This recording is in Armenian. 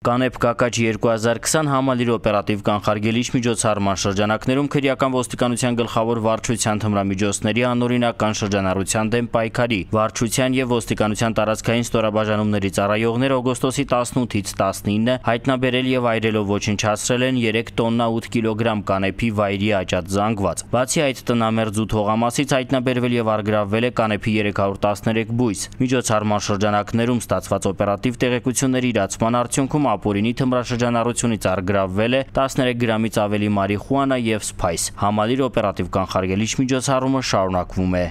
Կանեփ Կակաչ 2020 համալիր օպերատիվ կանխարգելիչ միջոցառման շրջանակներում քրեական ոստիկանության գլխավոր վարչության թմրամիջոցների անօրինական շրջանառության դեմ պայքարի վարչության եւ ոստիկանության տարածքային ստորաբաժանումների ծառայողները օգոստոսի 18-ից 19 հայտնաբերել եւ այրելով ոչնչացրել են 3 տոննա 8 կիլոգրամ կանեփի վայրի աճած զանգված։ Բացի այդ տնամերձ ու թողամասից հայտնաբերվել եւ առգրավվել է կանեփի 313 բույս։ Միջոցառման շրջանակներում ստացված օպերատիվ տեղեկությունների իրացման արդյունքում ապօրինի թմրաշրջանառությունից առգրավվել է 13 գրամից ավելի մարիխուանա եւ սփայս։ Համալիր օպերատիվ կանխարգելիչ միջոցառումը շարունակվում է։